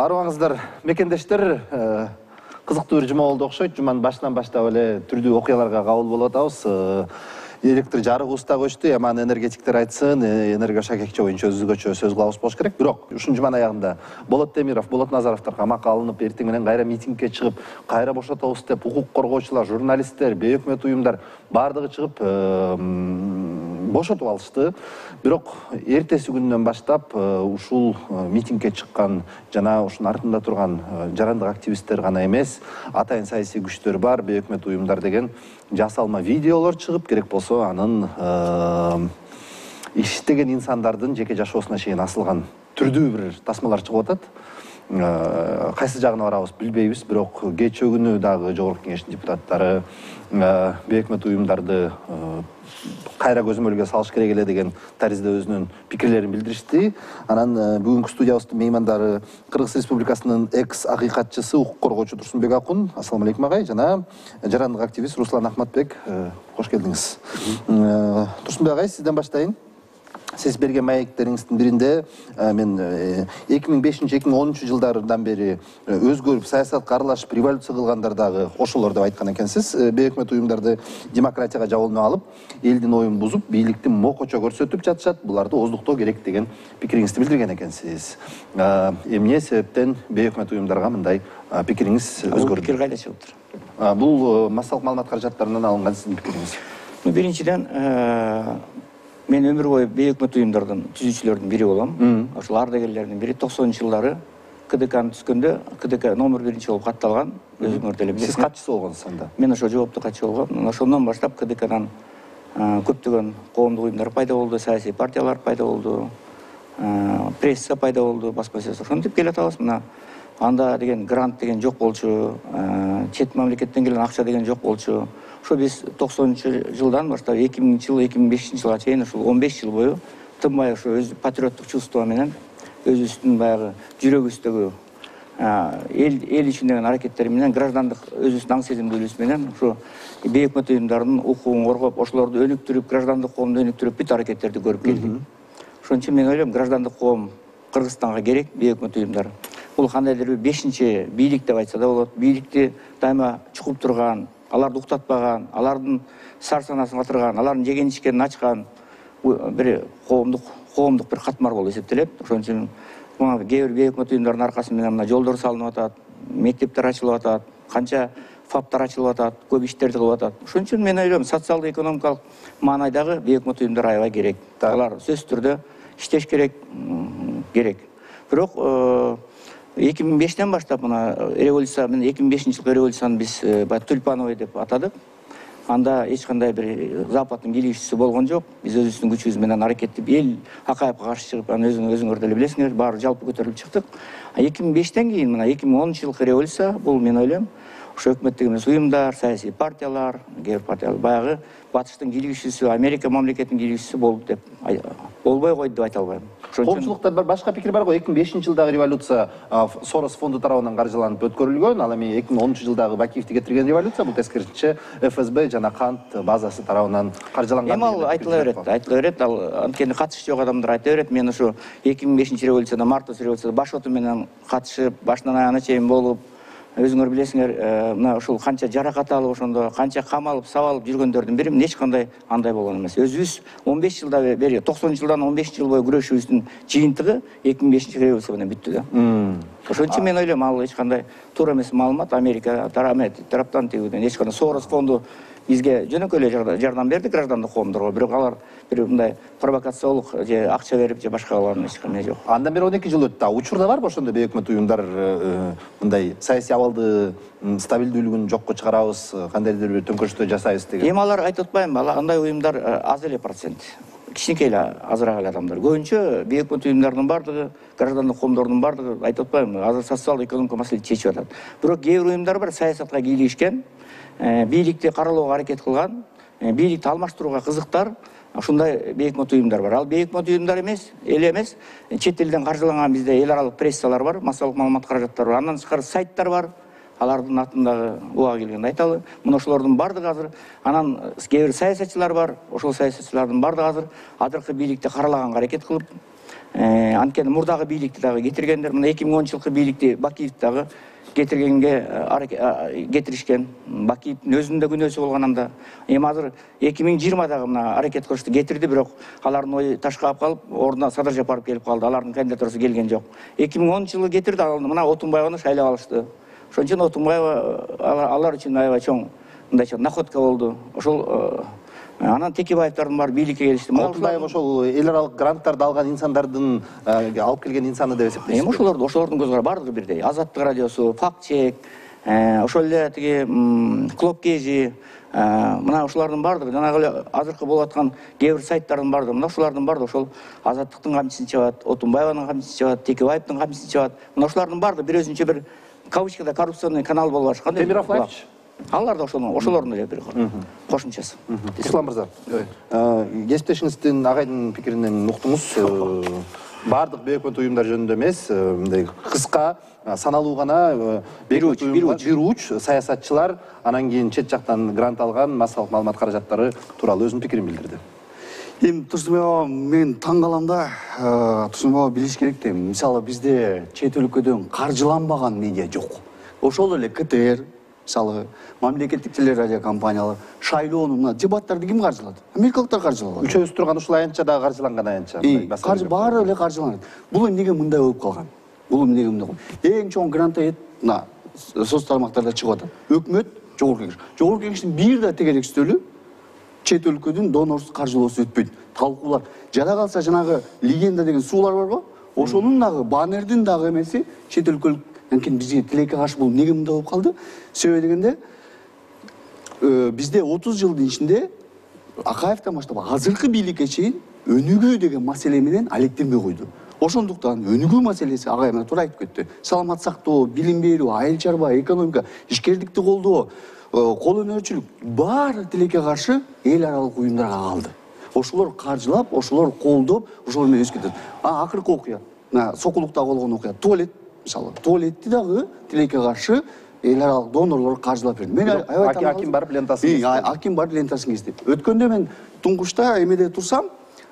Арыбаңыздар, мекендештер, кызыктуу бир жума болду окшойт. Жуманын башынан баштап эле түрдүү окуяларга кабыл болуп атабыз. Электр жарыгыбыз да көчтү, аман энергетиктер айтсын, энергошакекче боюнча өзгөчө сөз кылабыз болуш керек. Бирок ушул жуманын аягында Болот Темиров, Болот Назаровдор камакка алынып, эртең менен кайра митингге чыгып, кайра бошотобуз деп укук коргоочулар, журналисттер, бейөкмөт уюмдар бардыгы чыгып бошотуп алышты. Бирок эртеси күндөн баштап ушул митингге чыккан жана ушунун артында турган жарандык активисттер гана эмес, атайын саясий күчтөр бар, бейөкмөт уюмдар деген жасалма видеолор чыгып, керек болсо анын иштеген инсандардын жеке жашоосуна чейин асылган түрдүү бир тасмалар чыгып атат. Кайсы жагына барабыз билбейбиз, бирок кечээ күнү дагы Жогорку Кеңештин депутаттары бейөкмөт уюмдарды кайра көзөмөлгө салыш керек эле деген таризде өзүнүн пикирлерин билдиришти. Анан бүгүнкү студиябыздын меймандары Кыргыз Республикасынын экс-акыйкатчысы, укук коргоочу Турсунбек Акун, ассаламу алейкум агай, жана жарандык активист Руслан Ахматбек, кош келдиңиз. Турсунбек агай, сизден баштайын. Сиз берген маектериңиздин биринде мен 2005-2010 жылдардан бери өзгөрүп, саясатка аралашып, революция кылгандар дагы ошолор деп айткан экенсиз. Бейөкмөт уюмдарды демократияга жабылып алып, элдин оюн бузуп, бийликти мокочо көрсөтүп жатышат, буларды ооздуктоо керек деген пикириңизди билдирген экенсиз. Эмне себептен бейөкмөт уюмдарга мындай пикириңиз өзгөрдү? Пикир кайда чыгыптыр? Бул массалык маалымат каражаттарынан алынган сиздин пикириңиз. Биринчиден, мен өмүр бою бейөкмөт уюмдардын түзүүчүлөрдүн бири болом. Ошол ардагерлердин бири 90-жылдары КДКны түзгөндө КДК номер 1 болуп катталган. Өзүңөр деле билесиз. Сиз катчысы болгонсуз анда? Мен ошо жооптуу катчы болгом. Ошондон баштап КДКдан көптөгөн коомдук уюмдар пайда болду, саясий партиялар пайда болду, пресса пайда болду, баспасөз. Ошентип келатабыз. Мына анда деген грант деген жок болчу, чет мамлекеттен келген акча деген жок болчу. Ошо биз 90-жылдан баштап 2000-жыл, 2005-жылга чейин ушул 15 жыл бою тынбай ошо өз патриоттук чувство менен өзүбүздүн баягы жүрөгүбүздөгү эл үчүн деген аракеттер менен, граждандык өзүбүздүн аң сезимдүүлүгүбүз менен ошо бейөкмөт уюмдардын укугун коргоп, ошолорду өнүктүрүп, граждандык коомду өнүктүрүп бүт аракеттерди көрүп келдик. Ошон үчүн мен ойлойм, граждандык коом Кыргызстанга керек, бейөкмөт уюмдар. Бул кандайдыр бир 5-чи бийлик деп айтса да болот. Бийликти дайыма чукуп турган, аларды уктатпаган, алардын сар санасын катырган, алардын жеген ичкенин ачкан бир коомдук бир катмар болуп эсептелет. Ошон үчүн мына кээ бир бейөкмөт уюмдардын аркасы менен мына жолдор салынып атат, мектептер ачылып атат, канча фаптар ачылып атат, көп иштерди кылып атат. Ошон үчүн мен ойлойм, социалдык экономикалык маанайдагы бейөкмөт уюмдар аябай керек. Алар сөзсүз түрдө иштеш керек. Бирок 2005-тен баштап мына революция, мен 2005-жылкы революцияны биз тюльпановый деп атадык. Анда эч кандай бир Западтын бийлигчиси болгон жок. Биз өзүбүздүн күчүбүз менен аракеттеп, эл Акаевга каршы чыгып, аны өзүңөр деле билесиңер, баары жалпы көтөрүлүп чыктык. 2005-тен кийин мына 2010-жылкы революция, бул мен ойлойм, ошо өкмөттөгү эмес уюмдар, саясий партиялар, кээ бир партиялар баягы батыштын кийлигичиси, Америка мамлекетинин кийлигичиси болду деп болбой койду деп айта албайм. Коомчулукта бир башка пикир бар го. 2005-жылдагы революция Сорос фонду тарабынан каржыланып өткөрүлгөн. Ал эми 2010-жылдагы Бакиевди кетирген революция, бул тескерисинче ФСБ жана кант базасы тарабынан каржыланган. Эми ал айтыла берет, ал анткени катышы жок адамдар айта берет. Мен ошо 2005-революцияда, мартовский революцияда баш оту менен катышып, башынан аягына чейин болуп, өзүңөр билесиңер, мына ушул канча жаракат алып, ошондо канча камалып, сабалып жүргөндөрдүн бири эч кандай андай болгон эмес. Өзүбүз 15 жылдан бери, 90-жылдан 15 жыл бою күрөшүүбүздүн жыйынтыгы 2005-революция менен бүттү да. Ошон үчүн мен ойлойм, ал эч кандай туура эмес маалымат. Америка тараптан тигүүдөн эч кандай Сорос фонду бизге жөнөкөй эле жардам берди граждандык коомдорго, бирок алар бир мындай провокациялык же акча берип же башка кылган эч кандай жок. Андан бери 12 жыл өттү. Учурда барбы ошондой бейөкмөт уюмдар мындай саясий абалды стабилдүүлүгүн жокко чыгарабыз, кандайдыр бир төңкөрүштөр жасайбыз деген? Эми алар айтып атпайбы, андай уюмдар аз эле процент. Кичинекей эле азыраак эле адамдар. Көбүнчө бейөкмөт уюмдардын бардыгы, граждандык коомдордун бардыгы айтып атпайбы, азыр социалдык экономикалык маселени чечип атат. Бирок кээ бир уюмдар бар, саясатка кийлигишкен, бийликти каралоого аракет кылган, бийликти алмаштырууга кызыктар, ушундай бейөкмөт уюмдар бар. Ал бейөкмөт уюмдар эмес, чет элден каржыланган бизде эл аралык прессалар бар, массалык маалымат каражаттары бар, андан тышкары сайттар бар. Алардын атындагы уга келгенди айталы. Мына ошолордун бардыгы азыр, анан кээ бир саясатчылар бар, ошол саясатчылардын бардыгы азыркы бийликти каралаганга аракет кылып, Анткени мурдагы бийликти дагы кетиргендер, мына 2010-жылкы бийликти Бакиевди дагы кетиришкен. Бакиевдин өзүнүн да күнөөсү болгон анда. Эми азыр 2020-дагы мына аракет кылышты, кетирди, бирок алардын ою ташкалап калып, ордуна Садыр Жапаров келип калды. Алардын кандидатурасы келген жок. 2010-жылы кетирди, мына Отунбаеваны шайлап алышты. Ошон үчүн Отунбаева алар үчүн аябай чоң мындайча находка болду. Ошол анан Текебаевдардын баары бийликке келишти. Отунбаев ошол эл аралык гранттарды алган инсандардын алып келген инсаны деп эсептейсизби? Эми ошолордун көз карары баардыгы бирдей. Азаттык радиосу, Факт чек, ошол эле тиги Клуб Кези, мына ушулардын баардыгы жанагы эле азыркы болуп аткан кээ бир сайттардын баардыгы, мына ушулардын баардыгы ошол Азаттыктын камчысын чабат, Отунбаеванын камчысын чабат, Текебаевдин камчысын чабат. Мына ушулардын баардыгы бир өзүнчө бир кавычкада коррупционный канал болуп атышкан. Темиров Лайфч алар да ошолордун эле бир кошумчасы. Ислам мырза, кесиптешиңиздин агайдын пикиринен уктуңуз. Баардык бейөкмөт уюмдар жөнүндө эмес, мындай кыска, саналуу гана бир уч саясатчылар, анан кийин чет жактан грант алган массалык маалымат каражаттары тууралуу өзүнүн пикирин билдирди. Эми Турсунбай баба, мен таң калам да, Турсунбай баба билиш керек да, мисалы бизде чет өлкөдөн каржыланбаган медиа жок. Ошол эле КТР, мисалы мамлекеттик телерадио компаниялар, шайлоону мына дебаттарды ким каржылады? Америкалыктар каржылады. Үчөөбүз турган ушул аянтча дагы каржыланган аянтча. Баары эле каржыланат. Бул эмнеге мындай болуп калган? Эң чоң грант мына соц тармактарда чыгып атат. Өкмөт, жогорку кеңеш. Жогорку кеңештин бир да тегерекчтөлү чет өлкөдөн донорсуз каржылоосу өтпөйт. Талкуулар. Жада калса жанагы легенда деген суулар барбы? Ошонун дагы баннердин дагы эмеси чет өлкөлүк. Анткени бизге тилекке каршы бул эмнеге мындай болуп калды? Себеби дегенде бизде 30 жылдын ичинде Акаевден баштап азыркы бийликке чейин өнүгүү деген маселе менен алектенбей койду. Ошондуктан өнүгүү маселеси агай менен туура айтып кетти. Саламат сактоо, билим берүү, айыл чарба, экономика, ишкердикти колдоо, кол өнөрчүлүк баары тилекке каршы эл аралык уюмдарга калды. Ошолор каржылап, ошолор колдоп, ошолор менен өсүп кетет. Акыркы окуя, Сокулукта болгон окуя, туалет, мисалы, туалетти дагы тилекке каршы эл аралык донорлор каржылап берди. Мен Аким барып лентасын Аким барып лентасын кести. Өткөндө мен туңгучта эмеде турсам,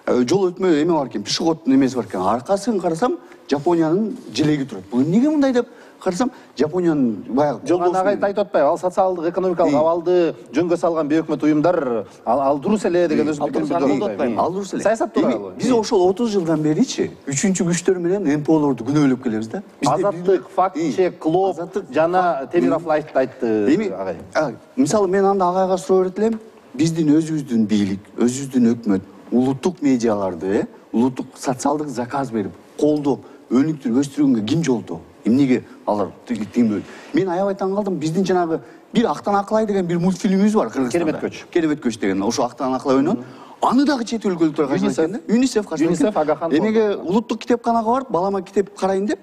жол өтмө эме бар экен, пешеходдун эмеси бар экен. Аркасын карасам, Жапониянын жилеги турат. Бул эмнеге мындай деп карасам, Жапониянын баягы жолдон агай айтып атпайбы? Ал социалдык, экономикалык абалды жөнгө салган бейөкмөт уюмдар ал дурус эле деген өзүнүн пикирин билдирди. Ал дурус эле. Саясат тууралуу. Биз ошол 30 жылдан беричи үчүнчү күчтөр менен НПОлорду күнөөлөп келебиз да. Азаттык, Факт чек, Клуб жана Темиров Лайфт айтты агай. Мисалы мен анда агайга суроо берет элем. Биздин өзүбүздүн бийлик, өзүбүздүн өкмөт улуттук медиаларды, улуттук социалдык заказ берип, колдоп, өнүктүрүп өстүргөнгө ким жолдоо? Эмнеге алар теңбөй? Мен аябай таң калдым. Биздин жанагы бир Актан Акылай деген бир мультфильмибиз бар Кыргызстанда. Керемет көч деген. Ошо Актан Акылай ойнон. Аны дагы чет өлкөлүктөр каржылайт экен да. ЮНИСЕФ каржылайт. Эмеге улуттук китепканага барып, балама китеп карайын деп,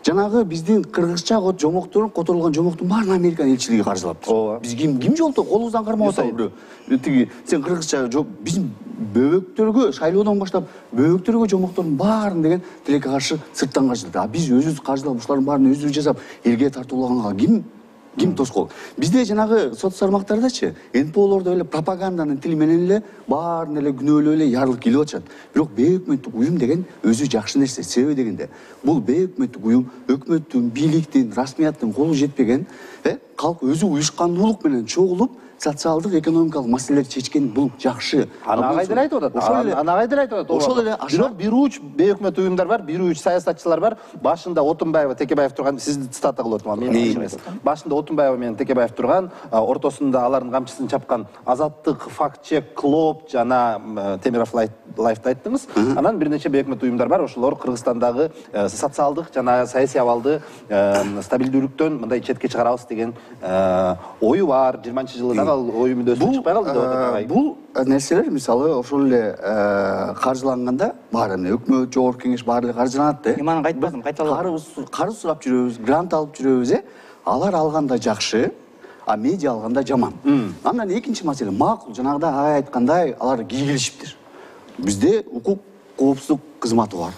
жанагы биздин кыргызча жомокторун, которулган жомоктун баарын Американ элчилиги каржылаптыр. Биз ким жолдоо? Колубуздан кармап атабы бирөө. Тиги сен кыргызча биздин бөбөктөргө шайлоодон баштап бөбөктөргө жомоктордун баарын деген тилекке каршы сырттан каржылайт. Биз өзүбүз каржылап ушулардын баарын өзүбүз жасап элге тартуулаганга ким тоскоол? Бизде жанагы соц тармактардачы НПОлордо эле пропаганданын тили менен эле баарын эле күнөөлөп эле ярлык келип атышат. Бирок бейөкмөттүк уюм деген өзү жакшы нерсе. Себеби дегенде бул бейөкмөттүк уюм өкмөттүн, бийликтин, расмияттын колу жетпеген, калк өзү уюшкандуулук менен чогулуп социалдык, экономикалык маселелерди чечкен бул жакшы. Аны агай деле айтып атат. Ошол эле бирок бир уч бейөкмөт уюмдар бар, бир уч саясатчылар бар. Башында Отунбаева, Текебаев турган, сизди цитата кылып атам, мен эмес. Башында Отунбаева менен Текебаев турган, ортосунда алардын камчысын чапкан Азаттык, Факт чек, Клуб жана Темиров Лайфт айттыңыз. Анан бир нече бейөкмөт уюмдар бар. Ошолор Кыргызстандагы социалдык жана саясий абалды стабилдүүлүктөн мындай четке чыгарабыз деген ою бар. 20-жылы ой мүндөсү чыкпай калды деп атат. Бул нерселер мисалы ошол эле каржыланганда баары эмне өкмөт, жогорку кеңеш баары эле каржыланат да. Мен аны айтпадым, кайталап. Карыз сурап жүрөбүз, грант алып жүрөбүз, алар алганда жакшы, а медиа алганда жаман. Андан экинчи маселе, макул жанагыда агай айткандай алар кийгилишиптир. Бизде укук коопсуздук кызматы бар.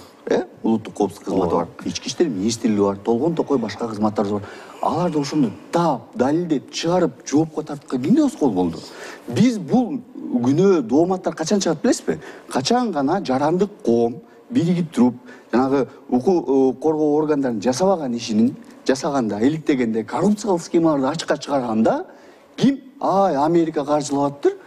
Улуттук коопсуздук кызматы бар. Ички иштер министрлиги бар, толгон токой башка кызматтарыбыз бар. Алар да ошону таап, далилдеп, чыгарып, жоопко тартканга кимде тоскоол болду? Биз бул күнөө дооматтар качан чыгат билесизби? Качан гана жарандык коом биригип туруп жанагы укук коргоо органдарын жасабаган ишинин жасаганда иликтегенде коррупциялык схемаларды ачыкка чыгарганда ким Америка каржылап атыптыр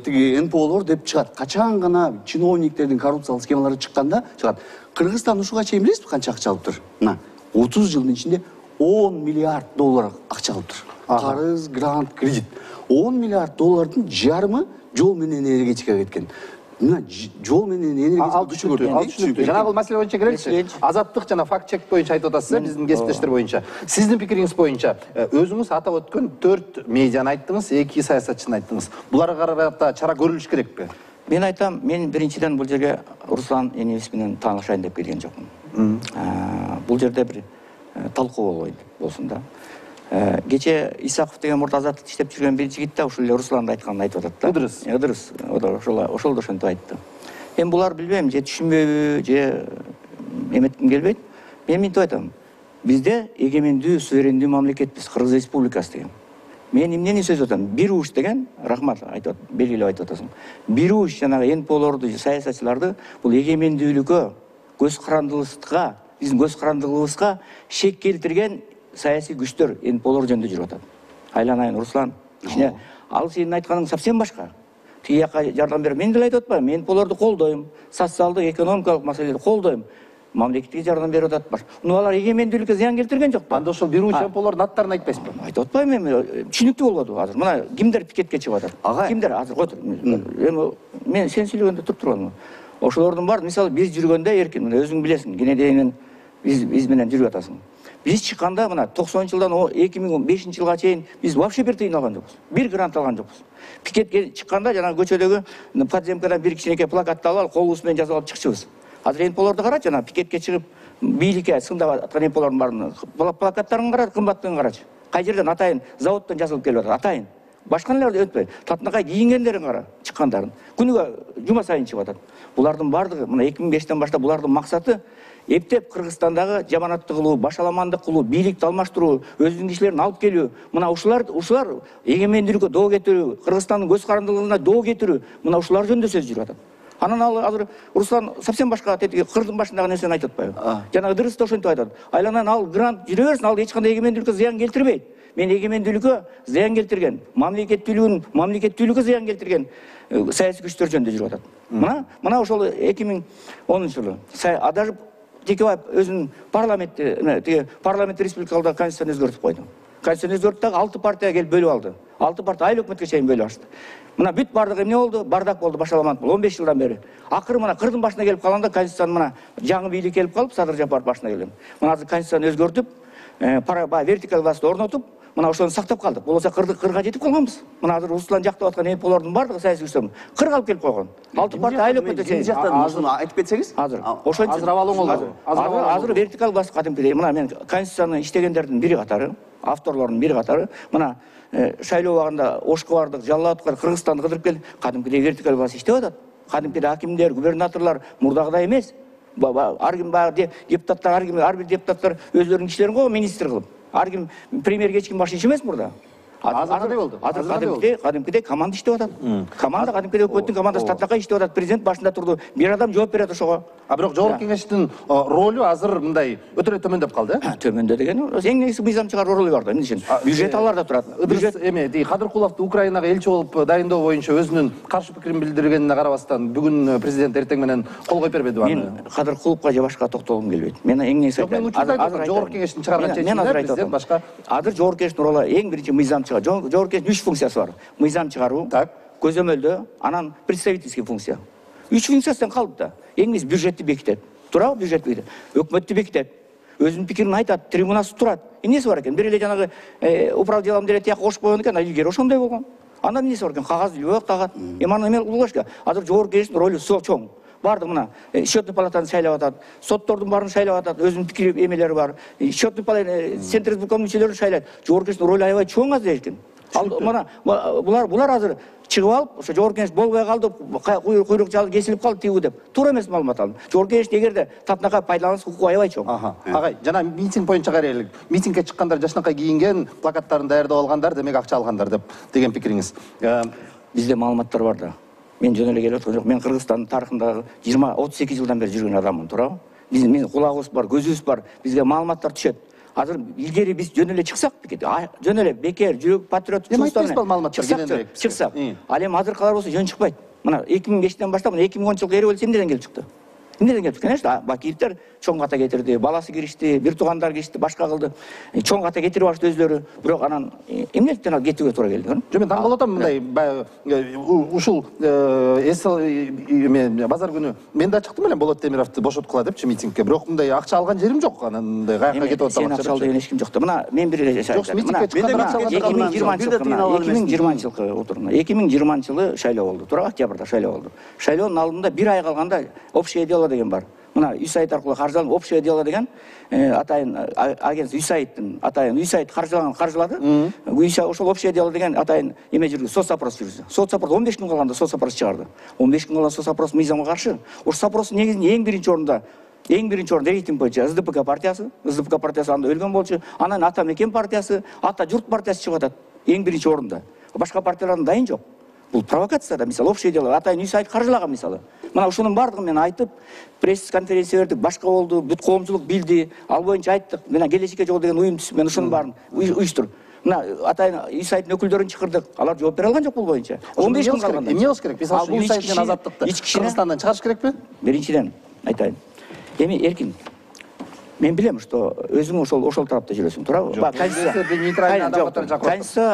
тиги НПОлор деп чыгат. Качан гана чиновниктердин коррупциялык схемалары чыкканда чыгат. Кыргызстан ушуга чейин билесизби канча акча алыптыр? Мына 30 жылдын ичинде 10 миллиард доллар акча алыптыр. Карыз, грант, кредит. 10 миллиард доллардын жарымы жол менен энергетикага кеткен. Мына жол менен энергетика жанагы маселе боюнча келеличи. Азаттык жана факт чек боюнча айтып атасыз, биздин кесиптештер боюнча. Сиздин пикириңиз боюнча өзүңүз атап өткөн 4 медианы айттыңыз, 2 саясатчыны айттыңыз. Буларга карата чара көрүлүш керекпи? Мен айтам, мен биринчиден бул жерге Руслан Энебис менен таанышайын деп келген жокмун. Бул жерде бир талкуу болсун да. Кече Исаков деген мурда Азаттыкта иштеп жүргөн бир жигит да ушул эле Русландын айтканын айтып атат да. Ыдырыс. Ыдырыс. Ошол да ошентип айтты. Эми булар билбейм, же түшүнбөйбү, же эметким келбейт. Мен мынтип айтам. Бизде эгемендүү, суверендүү мамлекетпиз, Кыргыз Республикасы деген. Мен эмнени сөз атам? Бир уш деген, рахмат айтып, белгилеп айтып атасың. Бир уш жанагы НПОлорду, саясатчыларды бул эгемендүүлүккө, көз карандылыкка, биздин көз карандылыгыбызга шек келтирген саясий күчтөр НПОлор жөнүндө жүрүп атат. Айланайын Руслан, ичине ал сенин айтканың совсем башка. Тиги жака жардам берип, мен деле айтып атпаймын, мен НПОлорду колдойм, социалдык, экономикалык маселелерди колдойм. Мамлекетке жардам берип атат. Алар эгемендүүлүккө зыян келтирген жокпу? Анда ошол бир уч НПОлордун аттарын айтпайсызбы? Айтып атпайм эми, түшүнүктүү болбоду азыр. Мына кимдер пикетке чыгып атат? Кимдер азыр кой тур. Эми мен сен сүйлөгөндө туруп турганмын. Ошолордун баары, мисалы, биз жүргөндө эркин, мына өзүң билесиң, кенедейинен биз менен жүрүп атасың. Биз чыкканда мына 90-жылдан 2005-жылга чейин биз вообще бир тыйын алган жокпуз. Бир грант алган жокпуз. Пикетке чыкканда жана көчөдөгү подземкадан бир кичинекей плакатты алып, колубуз менен жазып алып чыкчыбыз. Азыр НПОлорду карачы, жана пикетке чыгып, бийликке сындап аткан НПОлордун баарын плакаттарын кара, кымбаттыгын карачы. Кай жерден атайын заводдон жазылып келип атат, атайын. Башкаларды өтпөй. Татынакай кийингендерин кара, чыккандарын. Күнүгө жума сайын чыгып атат. Булардын баардыгы мына 2005-тен баштап булардын максаты эптеп Кыргызстандагы жаманаттык кылуу, башаламандык кылуу, бийликти алмаштыруу, өзүнүн кишилерин алып келүү. Мына ушулар эгемендүүлүккө доо кетирүү, Кыргызстандын көз карандылыгына доо кетирүү, мына ушулар жөнүндө сөз жүрүп атат. Анан азыр Руслан совсем башка кырдын башындагы нерсени айтып атпайбы? Жана Ыдырыс да ошентип айтат. Айланайын ал грант жүрө берсин, ал эч кандай эгемендүүлүккө зыян келтирбейт. Мен эгемендүүлүккө зыян келтирген, мамлекеттүүлүккө зыян келтирген саясий күчтөр жөнүндө жүрүп атат. Мына ошол 2010-жылы Адажып Текебаев өзүнүн парламент республикалык конституцияны өзгөртүп койду. Конституцияны өзгөртүп дагы 6 партия келип бөлүп алды. 6 партия айыл өкмөткө чейин бөлүп алышты. Мына бүт бардыгы эмне болду? Бардак болду, башаламандык болду 15 жылдан бери. Акыры мына кырдын башына келип калганда конституцияны мына жаңы бийлик келип калып, Садыр Жапаров башына келген. Мына азыр конституцияны өзгөртүп, вертикаль власть орнотуп, мына ошону сактап калдык. Болбосо кырга жетип калганбыз. Мына азыр Руслан жактап аткан НПОлордун бардыгы саясий күчтөр кырга алып келип койгон. 6 партия айыл өкмөткө чейин. Азыр айтып кетсеңиз? Азыр абалың болду. Азыр вертикаль власть кадимкидей. Мына мен конституцияны иштегендердин бири катары, авторлордун бири катары, мына шайлоо убагында Ошко бардык, Жалал Абдыкар Кыргызстанды кыдырып келди. Кадимкидей вертикаль власть иштеп атат. Кадимкидей акимдер, губернаторлор мурдагыдай эмес. Ар ким депутаттар, ар бир депутаттар өзлөрүнүн кишилерин койгон министр кылып. Ар ким премьерге эч ким баш ийишемес мурда. Азыр кандай болду? Азыр кадимкидей команда иштеп атат. Команда кадимкидей өкмөттүн командасы Татынакай иштеп атат. Президент башында турду. Бир адам жооп берет ошого. Бирок жогорку кеңештин ролу азыр мындай өтө эле төмөндөп калды. Төмөндө деген эң негизги мыйзам чыгаруу ролу бар да. Эмне үчүн? Бюджет аларда турат. Бюджет эми Кадыркуловду Украинага элчи болуп дайындоо боюнча өзүнүн каршы пикирин билдиргенине карабастан бүгүн президент эртең менен кол коюп бербедиби аны? Мен Кадыркуловго же башка токтолгум келбейт. Мен эң негизги азыр жогорку кеңештин чыгарган чечиминде президент башка. Азыр жогорку кеңештин ролу эң биринчи мыйзам чыгаруу. Жогорку кеңештин 3 функциясы бар. Мыйзам чыгаруу, көзөмөлдөө, анан представительский функция. 3 функциясынан калды да. Эң негизи бюджетти бекитет. Туурабы бюджет бекитет. Өкмөттү бекитет. Өзүнүн пикирин айтат, трибунасы турат. Эмнеси бар экен? Бир эле жанагы управ делам деле тияк кошуп койгон экен, илгери ошондой болгон. Андан эмнеси бар экен? Кагаз илбөк тагат. Эми аны эме кылыш керек. Азыр жогорку кеңештин ролу чоң. Бардык мына счетный палатаны шайлап атат, соттордун баарын шайлап атат, өзүнүн пикир эмелери бар. Счетный палата центр избирком мүчөлөрүн шайлайт. Жогорку кеңештин ролу аябай чоң азыр эркин. Мына булар азыр чыгып алып, ошо жогорку кеңеш болбой калды, куйрук жалы кесилип калды тигүү деп. Туура эмес маалымат алды. Жогорку кеңеш эгерде Татынакай пайдаланса укугу аябай чоң. Агай, жана митинг боюнча карайлык. Митингге чыккандар жашынакай кийинген, плакаттарын даярдап алгандар, демек акча алгандар деп деген пикириңиз. Бизде маалыматтар бар да. мен жөн эле келип аткан жок. Мен Кыргызстандын тарыхындагы 20-32 жылдан бери жүргөн адаммын, туурабы? Биздин кулагыбыз бар, көзүбүз бар, бизге маалыматтар түшөт. Азыр илгери биз жөн эле чыксак, жөн эле бекер, жүрөк, патриот чыксак. Ал эми азыркылар болсо жөн чыкпайт. Мына 2005-тен баштап 2010-жылкы революция эмнеден келип чыкты? Эмнеден келип чыкты? Конечно, Бакиевдер чоң ката кетирди, баласы киришти, бир туугандар киришти, башка кылды. Чоң ката кетирип алышты өзлөрү. Бирок анан эмнеликтен ал кетүүгө туура келди? Жок, мен таң калып атам мындай ушул базар күнү мен да чыктым эле Болот Темировду бошоткула депчи митингге. Бирок мындай акча алган жерим жок. Анан мындай каяка кетип атам. Сен акча ал деген эч ким жок да. Мына мен бир эле жок, митингге чыкканда 2020-жылкы отурумда 2020-жылы шайлоо болду. Туура, октябрда шайлоо болду. Шайлоонун алдында бир ай калганда общее дело деген бар. Мына USAID аркылуу каржыланган общее дело деген атайын агентство USAIDтин атайын USAID каржылаган каржылады. Ошол общее дело деген атайын эме жүргүзүп, соцопрос жүргүзүп. Соцопрос 15 күн калганда соцопрос чыгарды. 15 күн калган соцопрос мыйзамга каршы. Ошол соцопростун негизинде эң биринчи орунда рейтинг боюнча СДПК партиясы анда өлгөн болчу. Анан Ата Мекен партиясы, Ата Журт партиясы чыгып атат эң биринчи орунда. Башка партиялардын дайын жок. Бул провокация да, мисалы общее дело, атайын USAID каржылаган мисалы. Мына ушунун бардыгын мен айтып, пресс-конференция бердик, башка болду, бүт коомчулук билди, ал боюнча айттык. Мына Келечекке жол деген уюм түзүп, мен ушунун баарын уюштуруп. Мына атайын USAIDтин өкүлдөрүн чакырдык. Алар жооп бере алган жок бул боюнча. 15 күн калганда. Эмне болуш керек? Мисалы USAID менен Азаттыкты Кыргызстандан чыгарыш керекпи? Биринчиден айтайын. Эми эркин. Мен билем, что өзүң ошол тарапта жүрөсүң, туурабы?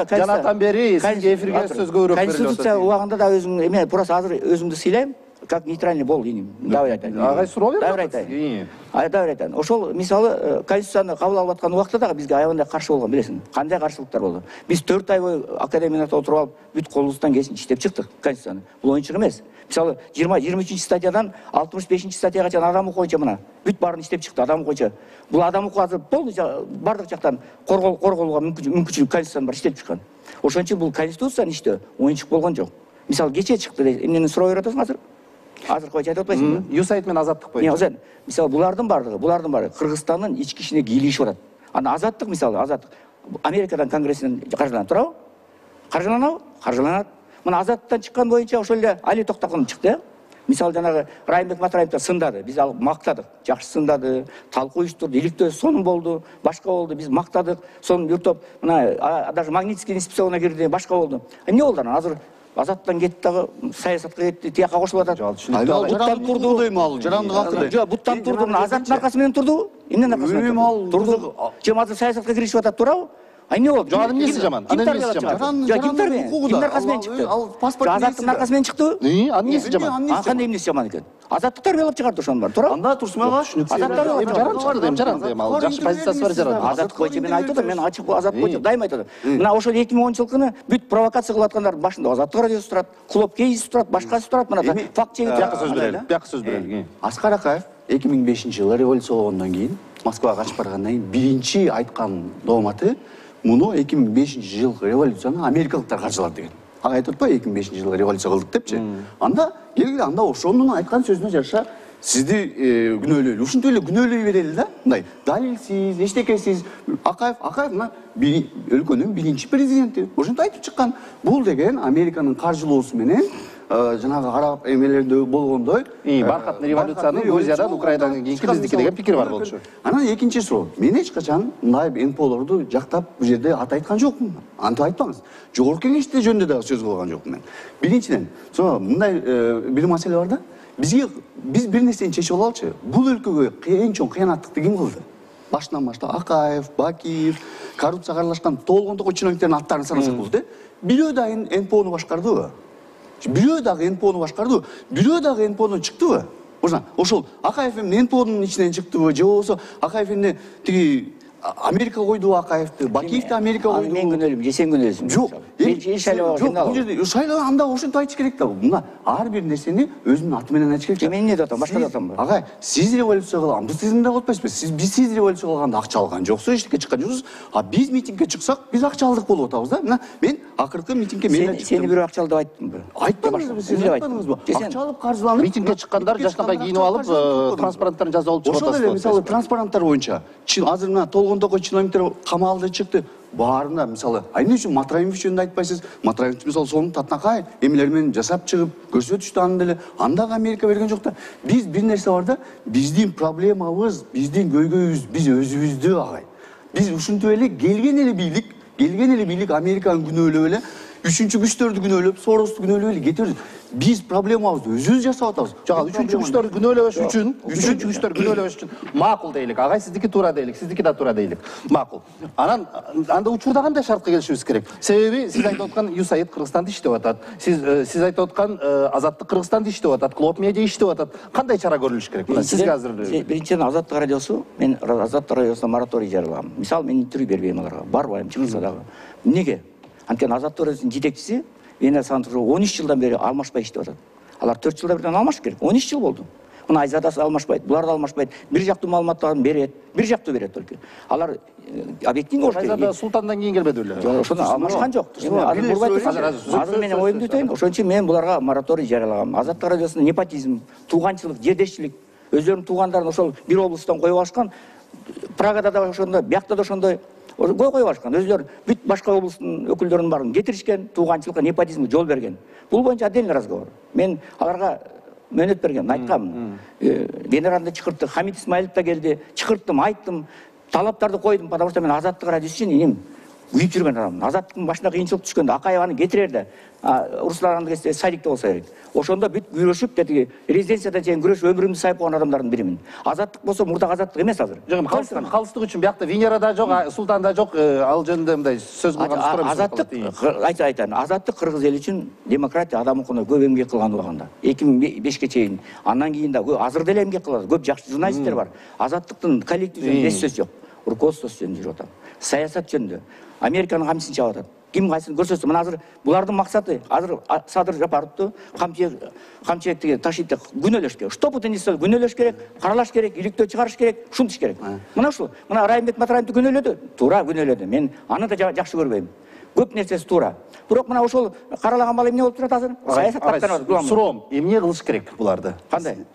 Жанатан бери сизге эфирге сөз көбүрөөк берилип атат. Конституция убагында да өзүң эме просто азыр өзүмдү сыйлайм, как нейтральный бол дейм. Дабыр айтайын. Агай суроо берип Дабыр айтайын. Дабыр айтайын. Ошол мисалы Конституцияны кабыл алып аткан убакта дагы бизге аябандай каршы болгон, билесиң. Кандай каршылыктар болду? Биз 4 ай бою академияда отуруп алып, бүт колубуздан келсин иштеп чыктык Конституцияны. Бул оюнчук эмес. Мисалы 23 статьядан 65 статьяга чейин адам укугу боюнча мына бүт баарын иштеп чыкты адам укугу. Бул адам укугу азыр полный бардык жактан корголууга мүмкүнчүлүк Конституциядан бар иштеп чыккан. Ошон үчүн бул Конституциянын иштөө оюнчук болгон жок. Мисалы кечээ чыкты, эмнени суроо берип атасың азыр? Азыр койчу айтып атпайсыңбы? USAID менен Азаттык боюнча. Мисалы булардын баардыгы Кыргызстандын ички ишине кийлигишип атат. Ана Азаттык мисалы Азаттык Америкадан конгрессинен каржыланат, туурабы? Каржыланат. Мына Азаттыктан чыккан боюнча ошол эле Али Токтогул чыкты. Мисалы жанагы Райымбек Матраевди сындады, биз алып мактадык. Жакшы сындады, талкуу уюштурду, иликтөө сонун болду, башка болду, биз мактадык. Сонун бир топ мына даже Магнитский инспекцияна кирди, башка болду. Эмне болду анан? Азыр Азаттан кетти дагы саясатка кетти, тияка кошулуп атат. Буттан турду дейм ал, жарандык акы. Жок, буттан турду, мына Азаттын аркасы менен турду. Эмненин аркасы менен турду? Жем азыр саясатка киришип атат, туурабы? Эмне болду? Жок, анын эмнеси жаман? Анын эмнеси жаман? Жок, кимдин аркасы менен чыкты? Азаттын аркасы менен чыктыбы? Анын эмнеси жаман? Кандай эмнеси жаман экен? Азаттык тарбиялап чыгарды ошонун баары, туурабы? Анда турсунага жаран дейм, ал жакшы позициясы бар жаран. Азаттык боюнча мен айтып атам, мен ачык Азаттык боюнча дайыма айтып атам. Мына ошол 2010-жылкыны бүт провокация кылып аткандардын башында Азаттык радиосу турат, Клуб Кейс турат, башкасы турат. Мына факт чегип Бияка сөз берели. Аскар Акаев 2005-жылы революция болгондон кийин Москвага качып баргандан кийин биринчи айткан дооматы муну 2005-жылкы революцияны америкалыктар каржылады деген. Ага айтып атпайбы 2005-жылы революция кылдык депчи. Анда келгиле анда ошонун айткан сөзүнө жараша сизди күнөөлөйлү. Ушинтип эле күнөөлөй берели да. Мындай далилсиз, эчтекесиз. Акаев мына өлкөнүн биринчи президенти. Ошентип айтып чыккан. Бул деген Американын каржылоосу менен жанагы араб эмелерде болгондой баркатный революциянын Грузиядан Украинадан кийинки биздики деген пикир бар болчу. Анан экинчи суроо. Мен эч качан мындай НПОлорду жактап бул жерде ат айткан жокмун. Антип айтпаңыз. Жогорку кеңеште жөнүндө дагы сөз кылган жокмун мен. Биринчиден, мындай бир маселе бар да. Биз бир нерсени чечип алалычы. Бул өлкөгө эң чоң кыянаттыкты ким кылды? Башынан баштап Акаев, Бакиев, коррупцияга аралашкан толгондогу чиновниктердин аттарын санасак болот, бирөө да НПОну башкардыбы? Бирөө дагы НПОну башкардыбы? Бирөө дагы НПОдон чыктыбы? Ошол Акаев эмне НПОдун ичинен чыктыбы? Же болбосо Акаев эмне тиги Америка койду Акаевди, Бакиевди Америка койду. Мен күнөөлүм, же сен күнөөлүсүң? Жок. Мен шайлоо жок, бул жерде шайлоо анда ошентип айтыш керек да. Мына ар бир нерсени өзүнүн аты менен айтыш керек. Мен эмне деп атам? Башка деп атамбы? Агай, сиз революция кылган, биз сиздин деп атпайсызбы? Сиз революция кылганда акча алган жоксуз, эчтеке чыккан жоксуз. А биз митингге чыксак, биз акча алдык болуп атабыз да. Мына мен акыркы митингге мен чыктым. Сени бирөө акча алды деп айттымбы? Айтпадыңызбы, сиз айтпадыңызбы? Акча алып каржыланып Митингге чыккандар жашнакай кийинип алып, транспаранттарын жазып алып чыгып атасыз. Ошол эле мисалы транспаранттар боюнча азыр мына толгон он токой чиновниктер камалды чыкты. Баарына мисалы, эмне үчүн Матраимов жөнүндө айтпайсыз? Матраимов мисалы сонун татынакай эмелер менен жасап чыгып көрсөтүштү аны деле. Андагы Америка берген жок да. Биз бир нерсе бар да, биздин проблемабыз, биздин көйгөйүбүз биз өзүбүздө агай. Биз ушинтип эле келген эле бийлик Американын күнөөлөп эле, үчүнчү күчтөрдү күнөөлөп, Соросту күнөөлөп эле кетебиз. Биз проблемабызды өзүбүз жасап атабыз. Жага үчүнчү күчтөр күнөөлөбөш үчүн макул дейлик. Агай сиздики туура дейлик, сиздики да туура дейлик. Макул. Анан анда учурда кандай шартка келишибиз керек? Себеби сиз айтып аткан ЮСАИД Кыргызстанды иштеп атат. Сиз айтып аткан Азаттык Кыргызстанды иштеп атат, Клоп Медиа иштеп атат. Кандай чара көрүлүш керек? Мына сизге азыр биринчиден Азаттык радиосу, мен Азаттык радиосуна мораторий жарыягам. Мисалы, мен интервью бербейм аларга. Барбайм, чыгырса дагы. Эмнеге? Анткени Азаттык радиосунун жетекчиси Венер Сандыков 13 жылдан бери алмашпай иштеп атат. Алар 4 жылда бирден алмаш керек. 13 жыл болду. Мына Айзадасы алмашпайт, булар да алмашпайт. Бир жактуу маалыматтарды берет, бир жактуу берет только. Алар объективдүү болуш керек. Айзада Султандан кийин келбеди беле? Жок, ошону алмашкан жок. Азыр менин оюмду айтайын. Ошон үчүн мен буларга мораторий жарыялагам. Азаттык радиосунда непотизм, тууганчылык, жердешчилик, өздөрүнүн туугандарын ошол бир облустан коюп алышкан. Прагада да ошондой, биякта да ошондой коюп алышкан. Өздөрү бүт башка облустун өкүлдөрүнүн баарын кетиришкен, тууганчылыкка, непотизмге жол берген. Бул боюнча отдельный разговор. Мен аларга мөөнөт берген, айткам. Генералды чакырттык, Хамит Исмаилов да келди, чакырттым, айттым, талаптарды койдум, потому что мен Азаттык радиосу үчүн эми күйүп жүргөн адаммын. Азаттыктын башына кыйынчылык түшкөндө Акаеваны кетирерде, Руслан Садикте болсо керек. Ошондо бүт күрөшүп, деди, резиденциядан чейин күрөшүп өмүрүмдү сайып койгон адамдардын биримин. Азаттык болсо мурдагы Азаттык эмес азыр. Жок, калыстык үчүн биякта Венера да жок, Султан да жок, ал жөнүндө мындай сөз кылган. Азаттык айтайын. Азаттык кыргыз эли үчүн демократия, адам укугуна көп эмгек кылган убагында. 2005ке чейин. Андан кийин да азыр деле эмгек кылат. Көп жакшы журналисттер бар. Азаттыктын коллектив жөнүндө эч сөз жок. Руководствосу жөнүндө жүрүп атам. Саясат жөнүндө. Американын камчысын чабып атат. Ким кайсын көрсөтсө, мына азыр булардын максаты, азыр Садыр Жапаровду камчыгы ташыйт деп күнөөлөш керек. Что бутын несет күнөөлөш керек, каралаш керек, иликтөө чыгарыш керек, ушунтиш керек. Мына ушул. Мына Райымбек Матраимовду күнөөлөдү, туура күнөөлөдү. Мен аны да жакшы көрбөйм. Көп нерсеси туура. Бирок мына ошол каралаган бала эмне болуп турат азыр? Саясат каттанат. Суроом, эмне кылыш керек буларды? Кандай?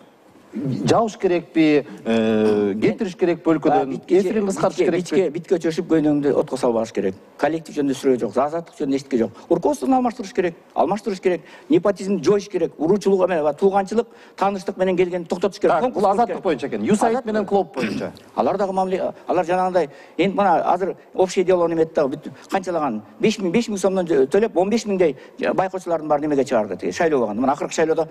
Жабыш керекпи, кетириш керек бөлкөдөн, эфирин кыскартыш керекпи? Битке чөшүп көйнөңдү отко салбаш керек. Коллектив жөнүндө сүрөө жок, Азаттык жөнүндө эчтеке жок. Руководствону алмаштырыш керек, непотизмди жоюш керек, уруучулук эме, тууганчылык, тааныштык менен келгенди токтотуш керек. Бул Азаттык боюнча экен. ЮСАИД менен Клоп боюнча. Алар дагы мамиле, алар жанагындай, эми мына азыр общее дело неметти дагы бүт канчалаган 5000 сомдон төлөп 15 миңдей байкоочулардын баары немеге чыгарды, шайлоо болгондо. Мына акыркы шайлоодо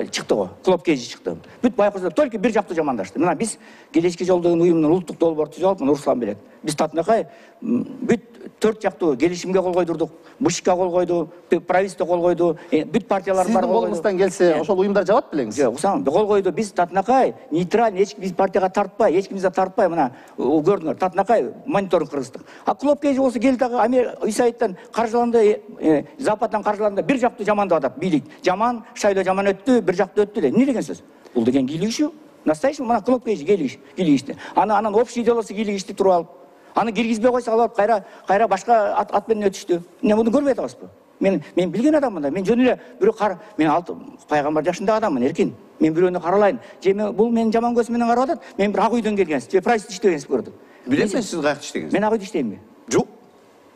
чыкты го, Клоп Кежи чыкты. Бүт байкоочулар только бир жактуу жамандашты. Мына биз Келечки жол деген уюмдун улуттук долбоорду түзүп алып, Руслан билет. Биз татынакай бүт 4 жактуу келишимге кол койдурдук, БШК кол койду, правительство кол койду, бүт партиялар бар. Сиздин колуңуздан келсе, ошол уюмдар жабат белеңиз? Жок, ушан кол койду. Биз татынакай нейтраль, эч биз партияга тартпай, эч кимди тартпай, мына көрдүңөр, татынакай мониторинг кыргыздык. А Клоп Кежи болсо келди дагы ЮСАИДтен каржыланды, Западтан каржыланды, бир жактуу жамандап атат. Бийлик жаман, шайлоо жаман өттү, бир жактуу өттү деп. Эмне деген сөз? Бул деген кийлигишүү. Настоящий мына Клоп Кежи кийлигишти. Анан общий делосу кийлигишти туруп алып. Аны киргизбей койсо алып кайра башка ат менен өтүштү. Эмне муну көрбөй атабызбы? Мен билген адаммын да. Мен жөн эле бирөө мен пайгамбар жашындагы адаммын, эркин. Мен бирөөнү каралайын. Бул менин жаман көз менен карап атат. Мен бир ак үйдөн келгенсиз. Же правительство иштегенсиз көрдү. Билесизби сиз кайякта иштегенсизби? Мен ак үйдө иштеймби? Жок.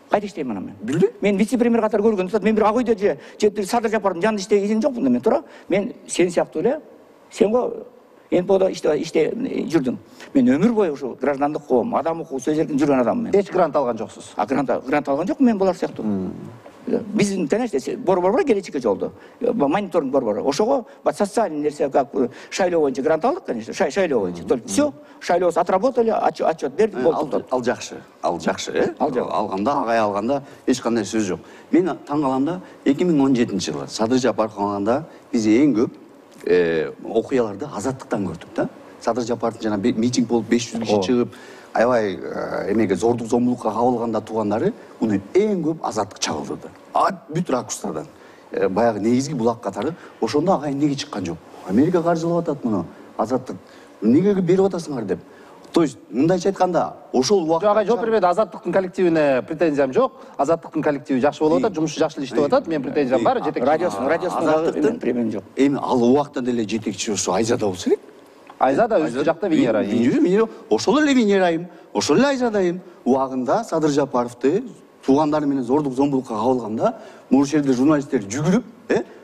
Кайда иштейм анан мен? Билбейм. Мен вице-премьер катары көргөндө, мен бир ак үйдө же Садыр Жапаровдун жанында иштеген жокмун да мен, туура. Мен сен сыяктуу эле, сен го НПОдо жүрдүң. Мен өмүр бою ушул граждандык коом, адам укугу, сөз эркин жүргөн адаммын мен. Эч грант алган жоксуз? Грант алган жокмун мен булар сыяктуу. Биздин борбор бар Келечки жолдо. Мониторинг борбору. Ошого социальный нерсе, как шайлоо боюнча грант алдык, конечно. Шайлоо боюнча. Только все, шайлообузду отработали, отчет бердик, болду. Ал жакшы. Алганда, агай алганда эч кандай сөз жок. Мен таң калам да, 2017-жылы Садыр Жапаров алганда биз эң көп окуяларды Азаттыктан көрдүк да. Садыр Жапаровдун жана митинг болуп 500 киши чыгып, аябай эмеге зордук зомбулукка кабылганда туугандары муну эң көп Азаттык чагылдырды. Бүт ракурстардан. Баягы негизги булак катары. Ошондо агай эмнеге чыккан жок? Америка каржылап атат муну. Азаттык эмнеге берип атасыңар деп. То есть мындайча айтканда, ошол убакта агай жооп бербеди. Азаттыктын коллективине претензиям жок. Азаттыктын коллективи жакшы болуп атат, жумушу жакшы иштеп атат. Мен претензиям бар, жетекчи. Радиосунун премиям жок. Эми ал убакта деле жетекчи ошо Айзада болсо элек. Айза да өзү жакта Венера айым. Ошол эле Венера айым, ошол эле Айза айым. Убагында Садыр Жапаровду туугандары менен зордук зомбулукка кабылганда, могу жерде журналисттер жүгүрүп,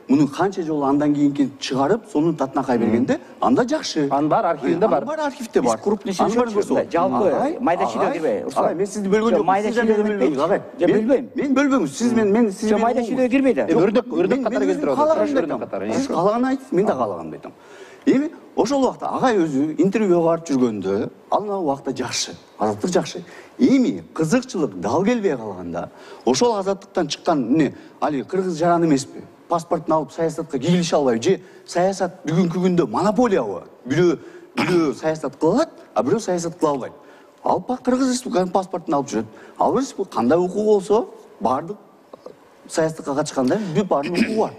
муну канча жолу андан кийинки чыгарып, сонун татынакай бергенде, анда жакшы. Анын баары архивинде бар. Бар архивде бар. Крупный сүйлөшөчү. Жалпы майда чүйдө кирбей. Агай, мен сизди бөлгөн жокмун. Майда чүйдө бөлбөйм. Агай, бөлбөйм. Мен бөлбөңүз. Сиз мен сиз майда чүйдө кирбейт. Өрдөк катары келтирип атат. Өрдөк катары. Сиз каалаган айтыңыз, мен да каалаганды айтам. Эми ошол убакта агай өзү интервьюга барып жүргөндө, ал убакта жакшы, азаттык жакшы. Эми кызыкчылык дал келбей калганда, ошол азаттыктан чыккан эмне, али кыргыз жаран эмеспи? Паспортун алып саясатка кийлише албайбы же саясат бүгүнкү күндө монополиябы? Бирөө саясат кыла алат, а бирөө саясат кыла албайт. Алып Кыргыз Республикасынын паспортун алып жүрөт. Ал кандай укугу болсо, баардык саясатка катышканда баардык укугу бар.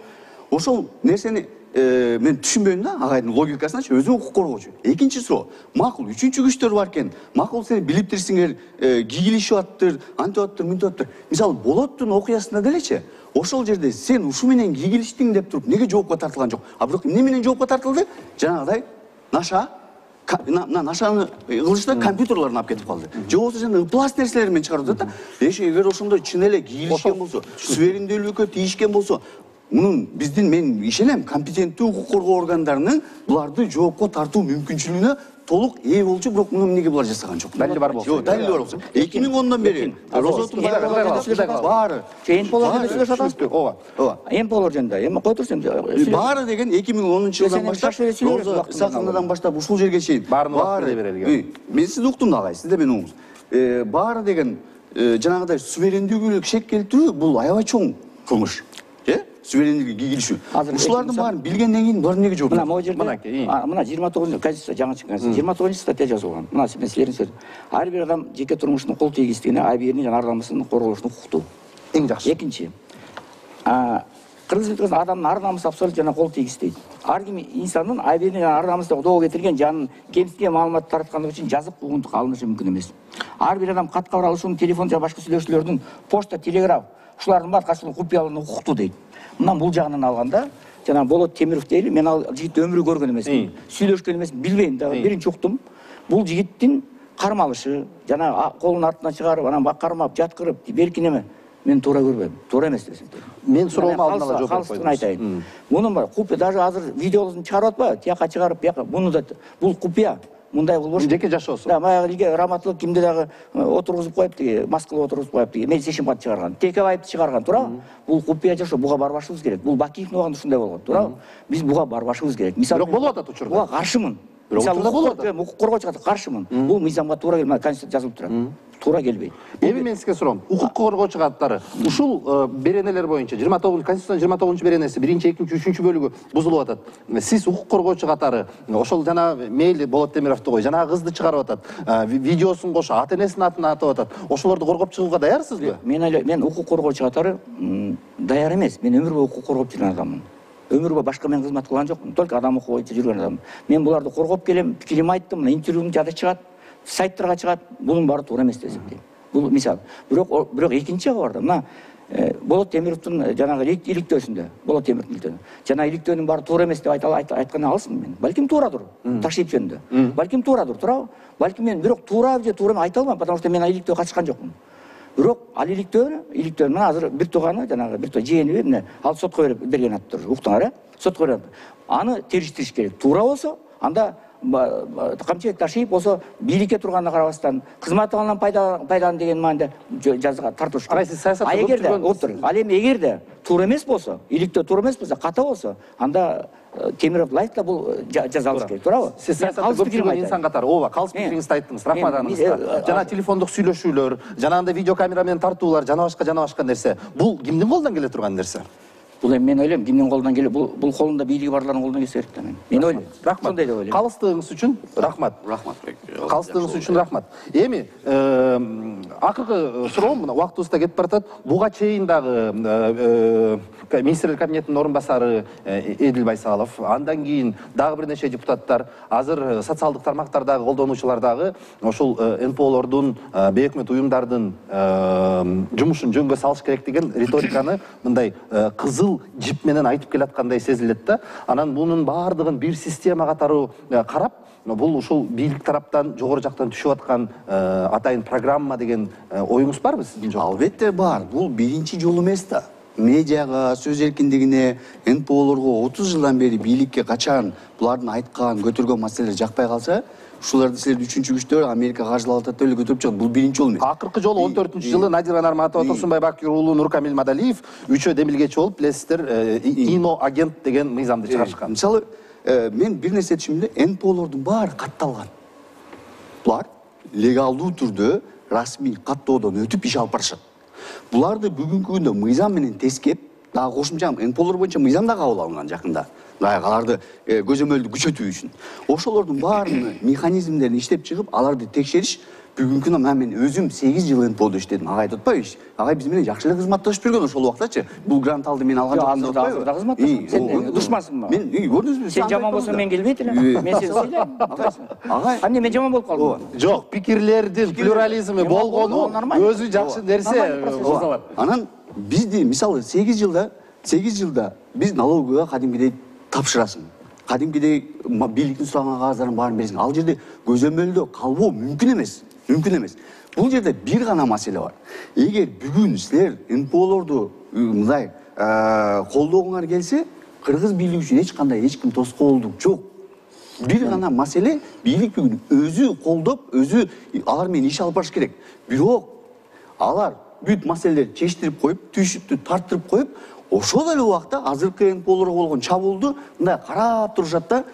Ошол нерсени мен түшүнбөйм да, агайдын логикасыначы, өзү укук коргоочу. Экинчи суроо, макул, үчүнчү күчтөр бар экен. Макул, сени билип турсуңар, кийлишип аттыр, антип аттыр, мынтип аттыр. Мисалы, Болоттун окуясында делечи, ошол жерде сен ушу менен кийлиштиң деп туруп, неге жоопко тартылган жок? А бирок эмне менен жоопко тартылды? Жанагыдай наша нашаны кылышта компьютерлерин алып кетип калды. Же болбосо жана ыплас нерселер менен чыгарып атат да. Эгер ошондой чын эле кийлишкен болсо, суверендүүлүккө тийишкен болсо, мунун мен ишенем, компетенттүү укук коргоо органдарынын буларды жоопко тартуу мүмкүнчүлүгүнө толук ээ болчу, бирок муну эмнеге булар жасаган жок? Далили бар болсо. Жок, далили бар болсо. 2010дон бери Розоттун баары Эмполор сөйлөшүп атасызбы? ооба. Эмполор жөнүндө. Эми кой турсун. Баары деген 2010-жылдан баштап, Исаховнадан баштап ушул жерге чейин баары берилген. Мен сизди уктум да, агай, сиз да мени угуңуз. Баары деген жанагыдай суверендүүлүккө шек келтирүү бул аябай чоң кылмыш. Суверендүүлүккө кийлишүү. Ушулардын баарын билгенден кийин булар эмнеге жооп берет? Мына могу жерде мына 29 Конституция жаңы чыккан 29 статья жазылган. Мына мен силердин сөзү. Ар бир адам жеке турмушунун кол тийгиздигине, абийиrini жана ар намысын корголушуна укуктуу. Эң жакшы. Экинчи. Кыргыз Республикасынын адамдын ар намысы абсолютно жана кол тийгиздейт. Ар ким инсандын абийиrini жана ар намысын доо кетирген жанын кемситкен маалымат тараткандыгы үчүн жазык угундук алынышы мүмкүн эмес. Ар бир адам кат кабар алышуунун, телефон жана башка сүйлөшүүлөрдүн, почта, телеграф ушулардын баары катышкан купуялыгына укуктуу дейт. Мындан бул жагынан алганда, жана Болот Темиров дейли, мен ал жигитти өмүрү көргөн эмесмин, сүйлөшкөн эмесмин, билбейм да. Биринчи уктум. Бул жигиттин кармалышы, жана колун артына чыгарып, анан кармап, жаткырып, беркин эме. Мен туура көрбөйм. Туура эмес десем. Мен суроомо алдын ала жооп берип койдум. Айтайын. Мунун бар, купуя даже азыр видеосун чыгарып атпайбы? Тияка чыгарып, бияка. Муну да бул купуя. Мындай болбош. Жеке жашоосу. Да, баягы раматтылык кимди дагы отургузуп коюп тиги, маскалап отургузуп коюп тиги, медсешимат чыгарган. Текебаевди чыгарган, туурабы? Бул купуя жашоо, буга барбашыбыз керек. Бул Бакиевдин убагында ушундай болгон, туурабы? Биз буга барбашыбыз керек. Бирок болуп атат учурда. Буга каршымын. Мисалы, укук коргоочуга каршымын. Бул мыйзамга туура келбейт, Конституцияда жазылып турат. Туура келбейт. Эми мен сизге суроом. Укук коргоочу каттары ушул беренелер боюнча 29 Конституциянын 29-беренеси 1-2, 3-4 бөлүгү бузулуп атат. Сиз укук коргоочу катары ошол жана мейли Болот Темировду кой, жана кызды чыгарып атат, видеосун кошо, ата-энесинин атын атап атат. Ошолорду коргоп чыгууга даярсызбы? Мен укук коргоочу катары даяр эмес. Мен өмүр бою укук коргоп жүргөн адаммын. Өмүр бою башка мен кызмат кылган жокмун. Только адам укугу боюнча жүргөн адаммын. Мен буларды коргоп келем, пикирим айттым, мына интервьюм жада чыгат, сайттарга чыгат. Бунун баары туура эмес десем дейм. Бул мисал. Бирок экинчи жагы бар да. Мына Болот Темировдун жанагы иликтөөсүндө, Болот Темировдун иликтөөсүндө. Жана иликтөөнүн баары туура эмес деп айткан алсың мен. Балким туурадыр. Ташип жөнүндө. Балким туурадыр, туурабы? Балким мен бирок туура же туура айта албайм, потому что мен иликтөөгө катышкан жокмун. Бирок ал иликтөө мына азыр бир тууганы, жанагы бир жээниби эмне, ал сотко берген аттыр. Уктуңар, Сотко берген. Аны териштириш керек. Туура болсо, анда камчыбек Ташиев болсо бийликке турганына карабастан кызмат алгандан пайдалан деген мааниде жазага тартылыш керек. Сиз саясатта жүргөн. Ал эми эгерде туура эмес болсо, иликтөө туура эмес болсо, ката болсо, анда Темиров лайк да бул жазалыш керек, туурабы? Сиз саясатта көп жүргөн инсан катары, ооба, калыс пикириңизди айттыңыз. Рахмат аңызга. Жана телефондук сүйлөшүүлөр, жанагындай видеокамера менен тартуулар, жана башка нерсе. Бул кимдин колунан келе турган нерсе? Бул эми мен ойлойм, кимдин колунан келе, бул колунда бийлиги барлардын колунан келсе керек да мен. Мен ойлойм. Рахмат. Ошондой деп ойлойм. Калыстыгыңыз үчүн рахмат. Калыстыгыңыз үчүн рахмат. Эми акыркы суроом, мына убактыбыз да кетип баратат. Буга чейин дагы министрлер кабинетинин орун басары Эдил Байсалов, андан кийин дагы бир нече депутаттар, азыр социалдык тармактардагы колдонуучулар дагы ошол НПОлордун, бейөкмөт уюмдардын жумушун жөнгө салыш керек деген риториканы мындай кызыл жип менен айтып келаткандай сезилет да. Анан бунун баардыгын бир система катары карап, бул ушул бийлик тараптан жогору жактан түшүп аткан атайын программа деген оюңуз барбы сиздин? Жок, албетте бар. Бул биринчи жолу эмес да. Медиага, сөз эркиндигине, НПОлорго 30 жылдан бери бийликке качан булардын айткан, көтөргөн маселелер жакпай калса, ушуларды силер үчүнчү күчтөр Америка каржылап атат деп эле көтөрүп чыгат. Бул биринчи жол эмес. Акыркы жолу 14-жылы Надира Нарматова, Турсунбай Бакир уулу, Нуркамил Мадалиев үчөө демилгечи болуп, билесиздер, ино агент деген мыйзамды чыгарышкан. Мисалы, мен бир нерсе түшүндүм, НПОлордун баары катталган. Булар легалдуу түрдө расмий каттоодон өтүп иш алып барышат. Буларды бүгүнкү күндө мыйзам менен тескеп, дагы кошумча НПОлор боюнча мыйзам да кабыл алынган жакында. Дагы аларды көзөмөлдү күчөтүү үчүн. Ошолордун баарынын механизмдерин иштеп чыгып, аларды текшериш бүгүнкү күндө мен өзүм 8 жыл НПОдо иштедим. Агай атпайбы? Агай биз менен жакшы эле кызматташып жүргөн ошол убактачы. Бул грант алды, мен алган жокмун деп атпайбы? Кызматташып. Сен душмансыңбы? Мен көрдүңүзбү? Сен жаман болсоң мен келбейт элем. Мен сени сыйлайм. Агай, Эмне мен жаман болуп калдым? Жок, пикирлердин плюрализми болгону өзү жакшы нерсе. Анан бизди мисалы 8 жылда биз налоговыйга кадимгидей тапшырасың. Кадимгидей бийликтин сураган кагаздарынын баарын бересиң. Ал жерде көзөмөлдө калбоо мүмкүн эмес. Бул жерде бир гана маселе бар. Эгер бүгүн силер НПОлорду мындай колдогуңар келсе, кыргыз бийлиги үчүн эч ким тоскоолдук жок. Бир гана маселе, бийлик бүгүн өзү колдоп, өзү алар менен иш алып барыш керек. Бирок алар бүт маселелерди чечтирип коюп, түйшүктү тарттырып коюп, ошол эле убакта азыркы НПОлорго болгон чабуулду мындай карап турушат да,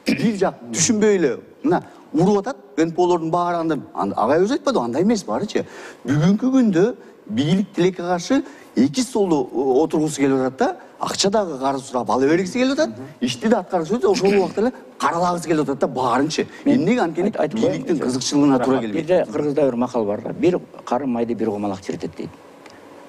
бир жак түшүнбөй эле мына уруп атат. НПОлордун баары агай өзү айтпадыбы, андай эмес баарычы. Бүгүнкү күндө бийлик тилекке каршы эки столдо отургусу келип атат да, акча дагы карыз сурап ала бергиси келип атат, ишти да аткаргысы келип атат, ошол убакта эле каралагысы келип атат да баарынчы. Эмнеге анткени бийликтин кызыкчылыгына туура келбейт. Бирде кыргызда бир макал бар да, бир карын майды бир комалак чиритет дейт.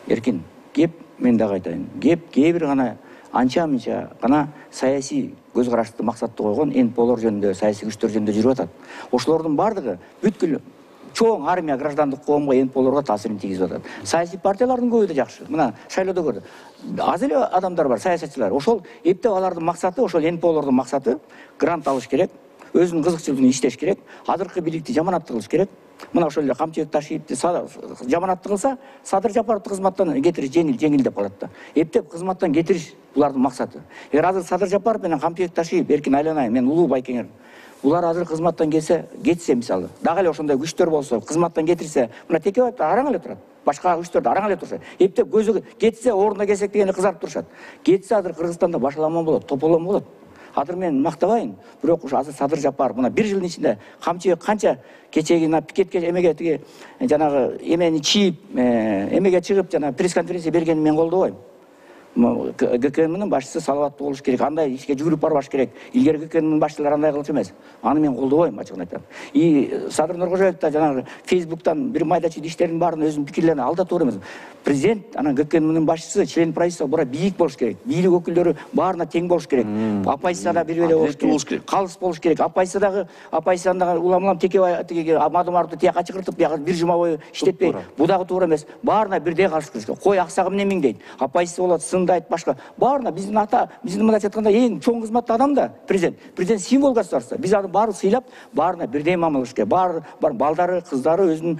Эркин, кеп мен дагы айтайын. Кеп кээ бир гана анча-мынча гана саясий көз карашты максатты койгон НПОлор жөнүндө, саясий күчтөр жөнүндө жүрүп атат. Ошолордун бардыгы бүткүл чоң армия, граждандык коомго, НПОлорго таасирин тийгизип атат. Саясий партиялардын көбү да жакшы. Мына шайлоодо көрдү. Аз эле адамдар бар, саясатчылар. Ошол эптеп алардын максаты, ошол НПОлордун максаты грант алыш керек, өзүнүн кызыкчылыгын иштеш керек, азыркы бийликти жаманатты кылыш керек. Мына ошол эле Камчыбек Ташиевди жаманатты кылса, Садыр Жапаровду кызматтан кетириш жеңил деп калат да. Эптеп кызматтан кетириш булардын максаты. Эгер азыр Садыр Жапаров менен Камчыбек Ташиев, Эркин Айланай, мен Улуу Байкеңер булар азыр кызматтан кетсе мисалы, дагы эле ошондой күчтөр болсо, кызматтан кетирсе, мына Текебаев араң эле турат. Башка күчтөрдө араң эле турушат. Эптеп көзү кетсе, ордуна келсек дегенде кызарып турушат. Кетсе азыр Кыргызстанда башаламан болот, тополон болот. Азыр мен мактабайын, бирок ушу азыр Садыр Жапаров мына 1 жылдын ичинде Камчыбек канча кечеги пикетке эмеге тиги жанагы эмени чийип, эмеге чыгып жана пресс-конференция бергенин мен колдобойм. ГКНнын башчысы салаваттуу болуш керек, андай ишке жүгүрүп барбаш керек. Илгери ГКНнын башчылары андай кылчу эмес. Аны мен колдобойм, ачыгын айтам. Садыр Нуркожоев да жанагы Фейсбуктан бир майда чүйдө иштердин баарын өзүнүн пикирлерине алда туура эмес. Президент, анан ГКНнын башчысы, член правительства бура бийик болуш керек. Бийлик өкүлдөрү баарына тең болуш керек. Оппозицияда бир эле болуш керек. Калыс болуш керек. Оппозициядагы улам Текебаев тиги Мадумаровду тияка чакыртып, бияка бир жума бою иштетпей, бу дагы туура эмес. Баарына бирдей каршы кылыш керек. Кой аксагы эмне миңдейт? Оппозиция болот, сындайт, башка. Баарына биздин мындайча айтканда эң чоң кызматтуу адам да президент. Президент символ государства. Биз аны баары сыйлап, баарына бирдей мамиле кылыш керек. Бар балдары, кыздары өзүнүн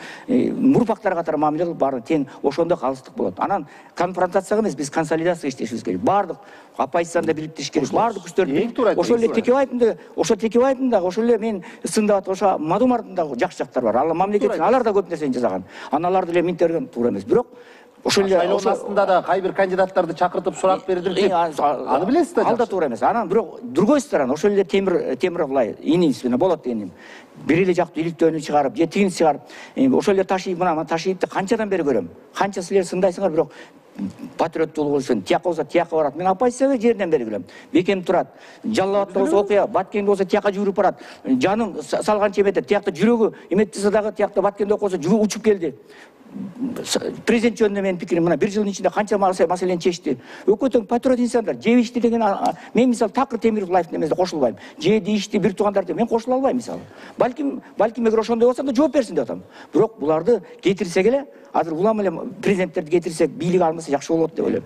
мурпактары катары мамиле кылып, баары тең, ошондо калыстык болот. Анан конфронтацияга эмес, биз консолидация иштешибиз керек. Бардык оппозицияны да бириктириш керек. Бардык күчтөрдү. Ошол эле Текебаевдин дагы, ошол эле мен сындап аткан ошо Мадумаровдун дагы жакшы жактары бар. Алар мамлекет үчүн алар да көп нерсени жасаган. Аналарды эле минте берген туура эмес. Бирок ошол эле шайлоонун астында да кайбир кандидаттарды чакыртып сурак бердирди. Аны билесиз да? Ал да туура эмес. Анан бирок другой сторона ошол эле Темиров лай инисине болот дегеним. Бир эле жактуу иликтөөнү чыгарып, же тигин чыгарып, ошол эле Ташиев мына Ташиевди канчадан бери көрөм. Канча силер сындайсыңар, бирок патриоттуулугу үчүн тияка болсо тияка барат. Мен оппозицияга жерден бери билем. Бекем турат. Жалал-Абадта болсо окуя, Баткенде болсо тияка жүгүрүп барат. Жанын салганча эметет. Тиякта жүрөгү эметсе дагы тиякта Баткенде окусо жүрөгү учуп келди. президент жөнүндө менин пикирим мына 1 жылдын ичинде канча маселени чечти. Өкө тең патриот инсандар, жеп ичти деген мен мисалы Такыр Темиров лайфтын эмесине кошулбайм. Жеди ичти бир туугандар деп мен кошула албайм мисалы. Балким эгер ошондой болсо да жооп берсин деп атам. Бирок буларды кетирсек эле азыр улам эле президенттерди кетирсек, бийлик алмаса жакшы болот деп ойлойм.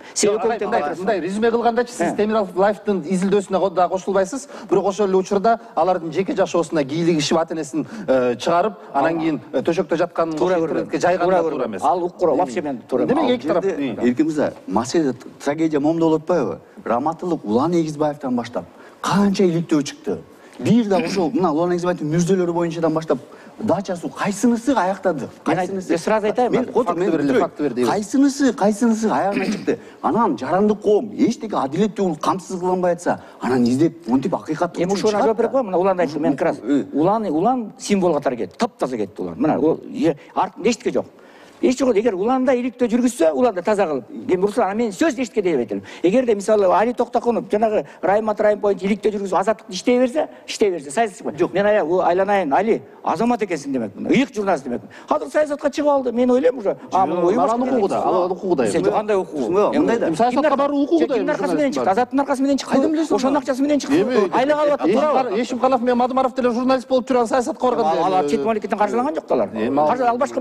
Мындай резюме кылгандачы сиз Темиров лайфтын изилдөөсүнө да кошулбайсыз, бирок ошол эле учурда алардын жеке жашоосуна кийлигишип ат энесин чыгарып, анан кийин төшөктө жатканын интернетке жайганы туура эмес. Ал укур вообще мен туура эмес. Демек эки тарап. Эркин мырза, маселе трагедия момунда болуп атпайбы? Раматылык Улан Эгизбаевден баштап канча иликтөө чыкты. Бир да ошол мына Улан Эгизбаевдин мүрзөлөрү боюнчадан баштап дачасы кайсынысы аяктады? Кайсынысы? Сразу айтайын. Мен факты берди. Кайсынысы аягына чыкты? Анан жарандык коом эчтеке адилеттүү камсыз кылынбай атса, анан издеп монтип акыйкатты. Эми ушуна жооп берип коем. Мына Улан айтты, мен крас. Улан символ катары кетти. Таптаза кетти Улан. Мына артында эчтеке жок. Эч жок. Эгер Уланда иликтөө жүргүзсө, Уланда таза кылып. Эми Руслан, мен сөз эчтеке дебейт элем. Эгерде мисалы Али Токтокунов жанагы Райымат Райым боюнча иликтөө жүргүзүп азаттыкты иштей берсе, саясатчы. Жок, мен айланайын, Али азамат экенсиң демекмин. Ыйык журналист демекмин. Азыр саясатка чыгып алды. Мен ойлойм уже. Анын укугу да. Сен кандай укугу? Мындайда. Саясатка баруу укугу да. Кимдин аркасы менен чыкты? Азаттын аркасы менен чыкты. Ошонун акчасы менен чыкты. Айлык алып атты. Ешимкалов менен Мадумаров деле журналист болуп жүргөн саясатка барган. Алар чет мамлекеттен каржылаган жок алар. Ал башка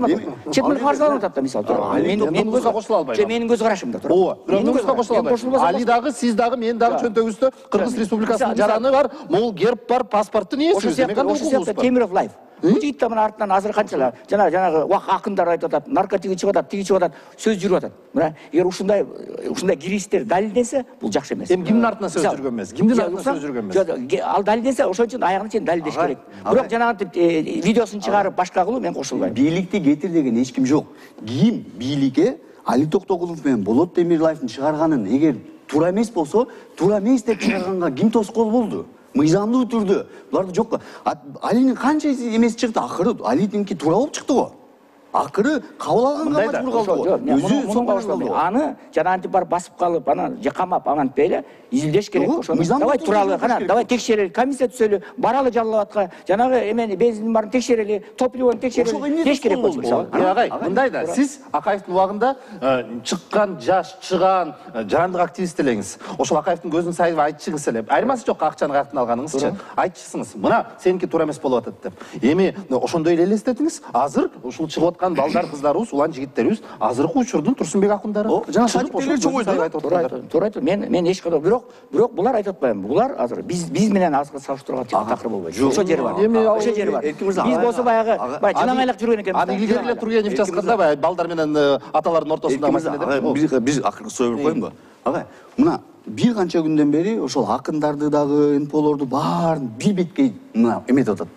чет мамлекет каржылаган атат мисалы. Мен көзгө кошула албайм. Менин көз карашымда тура. Ооба, бирок көзгө кошула албайм. Али дагы, сиз дагы, мен дагы чөнтөгүбүздө Кыргыз Республикасынын жараны бар, могул герб бар, паспорттун ээсибиз. Ошо Темиров лайф. Бул жигиттер мына артынан азыр канчалар жанагы акындар айтып атат, наркотиги чыгып атат, тиги чыгып атат, сөз жүрүп атат. Мына эгер ушундай кириштер далилденсе, бул жакшы эмес. Эми кимдин артынан сөз жүргөн эмес? Кимдин артынан сөз жүргөн эмес? Ал далилденсе, ошон үчүн аягына чейин далилдеш керек. Бирок жанагы видеосун чыгарып башка кылуу мен кошулбайм. Бийликти кетир деген эч ким жок. Ким бийликке Али Токтокулов менен Болот Темирлаевдин чыгарганын эгер туура эмес болсо, туура эмес деп чыгарганга ким тоскоол болду? Мыйзамдуу түрдө. Буларды жокко. Алинин канча эмес чыкты, акыры Алининки туура болуп чыкты го. Акыры кабыл алганга мажбур калды. Өзү соңгоштолду. Аны жанагынтип барып басып калып, анан камап, амантпай эле изилдеш керек ошону. Давай тууралуу, кана, давай текшерели, комиссия түзөлү, баралы жалалатка, жанагы эмени бензиндин баарын текшерели, топливону текшерели, деш керек болчу мисалы. Агай, мындай да, сиз Акаевдин убагында чыккан, чыган жарандык активист элеңиз. Ошол Акаевдин көзүн сайып айтчыңыз эле. Айырмасы жок акчаны каяктан алганыңызчы. Айтчысыңыз. Мына сеники туура эмес болуп атат деп. Эми ошондой эле элестетиңиз. Азыр ушул чыгып аткан балдар, кыздарыбыз, улан жигиттерибиз азыркы учурдун Турсунбек акындары. Жана шайтерлер чоң ойду. Туура айтты. Мен эч кандай бирок булар айтып атпайм. Булар азыр биз менен азыр салыштырууга такыр болбойт. Ошо жери бар. Ошо жери бар. Биз болсо баягы жылаңайлак жүргөн экенбиз. Аны илгери эле Тургенев жазганда баягы балдар менен аталардын ортосундагы маселе деп. Биз акыркы суроо берип коеюнбу? Агай, мына бир канча күндөн бери ошол акындарды дагы, НПОлорду баарын бир бетке мына эметип атат.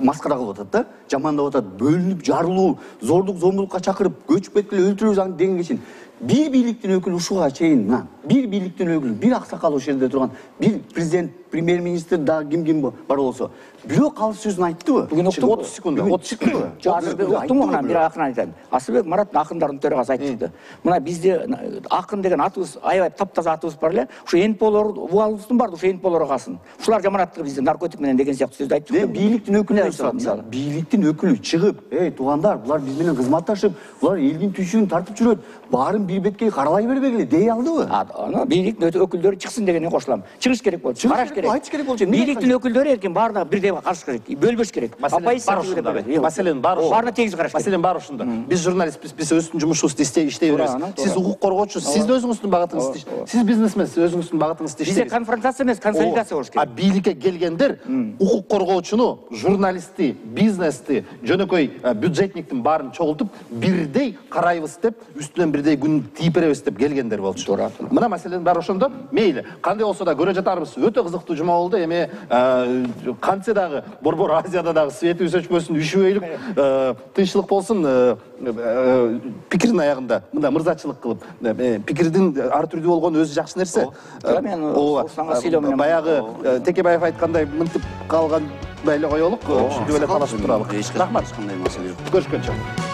Маскара кылып атат да, жамандап атат, бөлүнүп, жарылуу, зордук, зомбулукка чакырып, көчүп кеткиле өлтүрөбүз дегенге чейин. Бир бийликтин өкүлү ушуга чейин, мына, бир бийликтин өкүлү, бир аксакал ошол жерде турган, бир президент, премьер-министр да ким бар болсо, бирок калыс сөзүн айттыбы? Бүгүн 30 секунд, 30 чыктыбы? Жок, азыр уктумбу мына бир акын айтайын. Асылбек Мараттын акындардын төрагасы айтып чыкты. Мына бизде акын деген атыбыз, аябай таптаза атыбыз бар эле. Ушу НПОлор, убалыбыздын бар, ушу НПОлорго калсын. Ушулар жаманаттыгы бизде наркотик менен деген сыяктуу сөздү айтып чыкты. Бийликтин өкүлү мисалы. Бийликтин өкүлү чыгып, туугандар, булар биз менен кызматташып, булар элдин түйшүгүн тартып жүрөт. Баарын бир бетке каралай бербегиле дей алдыбы? Аны бийликтин өкүлдөрү чыксын дегенге кошулам. Чыгыш керек болчу, караш керек. Айтыш керек болчу. Бийликтин өкүлдөрү эркин баардыгы бирдей караш керек. Бөлбөш керек. Маселенин баары ошондо. Баарына тегиз караш керек. Маселенин баары ошондо. Биз журналистпиз, биз өзүбүздүн жумушубузду иштей беребиз. Сиз укук коргоочусуз, сиз өзүңүздүн багытыңызды, сиз бизнесменсиз, өзүңүздүн багытыңызды иштейсиз. Бизде конфронтация эмес, консолидация болуш керек. А бийликке келгендер укук коргоочуну, журналистти, бизнести, жөнөкөй бюджетниктин баарын чогултуп, бирдей карайбыз деп, үстүнөн бирдей күн тийип беребиз деп келгендер болчу. Мына маселенин баары ошондо. Мейли, кандай болсо да көрө жатарбыз. Өтө кызыктуу жума болду. Эми кантсе дагы Борбор Азияда дагы светибиз өчпөсүн, үшүбөйлүк, тынччылык болсун, пикирдин аягында мындай мырзачылык кылып, пикирдин ар түрдүү болгону өзү жакшы нерсе. Баягы Текебаев айткандай мынтип калган эле коелук, ушинтип эле талашып туралык. Рахмат. Кандай маселе жок. Көрүшкөнчө.